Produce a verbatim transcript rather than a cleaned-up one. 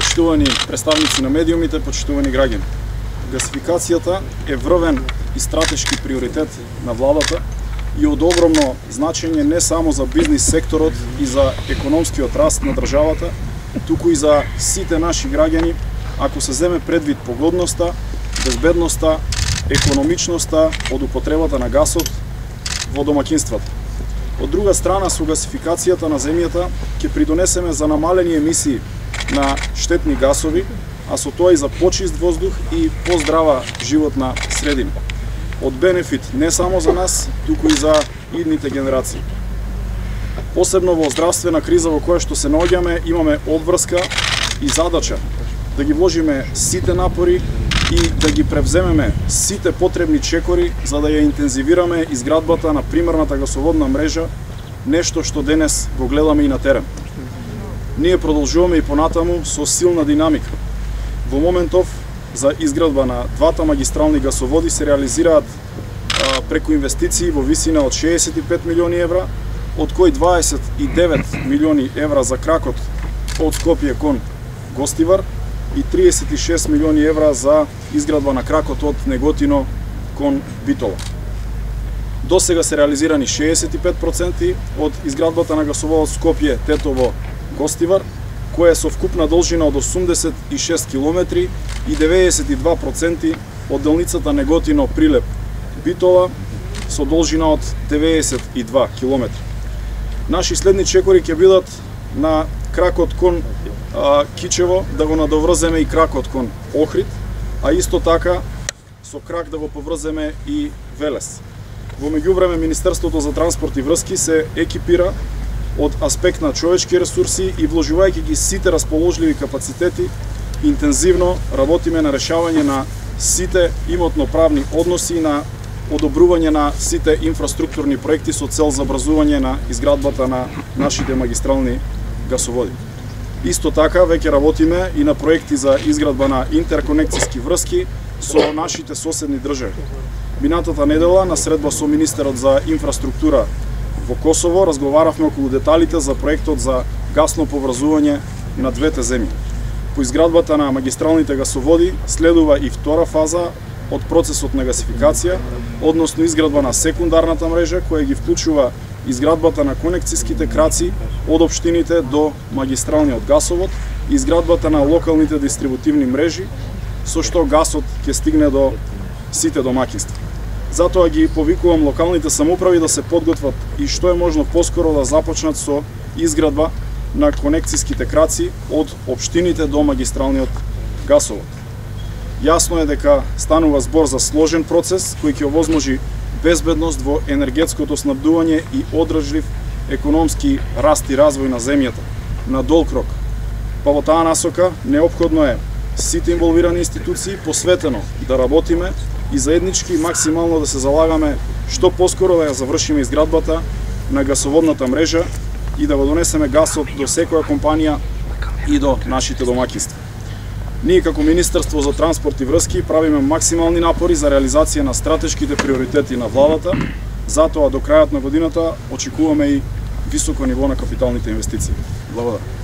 Почитувани представници на медиумите, почитувани граѓани. Гасификацијата е врвен и стратешки приоритет на владата и од огромно значење не само за бизнис секторот и за економскиот раст на државата, туку и за сите наши граѓани, ако се земе предвид погодноста, безбедноста, економичноста од употребата на гасот во домаќинствата. Од друга страна, со гасификацијата на земјата ќе придонесеме за намалени емисии на штетни гасови, а со тоа и за почист воздух и поздрава животна средина. Од бенефит не само за нас, туку и за идните генерации. Посебно во здравствена криза во која што се наоѓаме, имаме обврска и задача да ги вложиме сите напори и да ги превземеме сите потребни чекори за да ја интензивираме изградбата на примерната гасоводна мрежа, нешто што денес го гледаме и на терен. Ние продолжуваме и понатаму со силна динамика. Во моментов за изградба на двата магистрални гасоводи се реализираат а, преку инвестиции во висина од шеесет и пет милиони евра, од кои дваесет и девет милиони евра за кракот од Скопје кон Гостивар и триесет и шест милиони евра за изградба на кракот од Неготино кон Битола. До сега се реализирани шеесет и пет проценти од изградбата на гасоводот Скопје Тетово Гостивар, која е со вкупна должина од осумдесет и шест километри и деветдесет и два проценти од делницата Неготино Прилеп Битола со должина од деветдесет и два километри. Наши следни чекори ќе бидат на кракот кон а, Кичево, да го надоврземе и кракот кон Охрид, а исто така со крак да го поврземе и Велес. Во меѓувреме Министерството за транспорт и врски се екипира од аспект на човечки ресурси и вложувајќи ги сите расположливи капацитети, интензивно работиме на решавање на сите имотно-правни односи и на одобрување на сите инфраструктурни проекти со цел за образување на изградбата на нашите магистрални гасоводи. Исто така веќе работиме и на проекти за изградба на интерконекцијски врски со нашите соседни држави. Минатата недела на средба со министерот за инфраструктура во Косово разговаравме околу деталите за проектот за гасно поврзување на двете земји. По изградбата на магистралните гасоводи следува и втора фаза од процесот на гасификација, односно изградба на секундарната мрежа која ги вклучува изградбата на конекцијските краци од општините до магистралниот гасовод и изградбата на локалните дистрибутивни мрежи, со што гасот ќе стигне до сите домаќинства. Затоа ги повикувам локалните самоуправи да се подготват и што е можно поскоро да започнат со изградба на конекцијските краци од општините до магистралниот гасовод. Јасно е дека станува збор за сложен процес кој ќе овозможи безбедност во енергетското снабдување и одржлив економски раст и развој на земјата на долг рок. Па во таа насока неопходно е сите инволвирани институции посветено да работиме и заеднички максимално да се залагаме што поскоро да ја завршиме изградбата на гасоводната мрежа и да го донесеме гасот до секоја компанија и до нашите домаќинства. Ние како Министерство за транспорт и врски правиме максимални напори за реализација на стратешките приоритети на владата, затоа до крајот на годината очекуваме и високо ниво на капиталните инвестиции. Благодарам.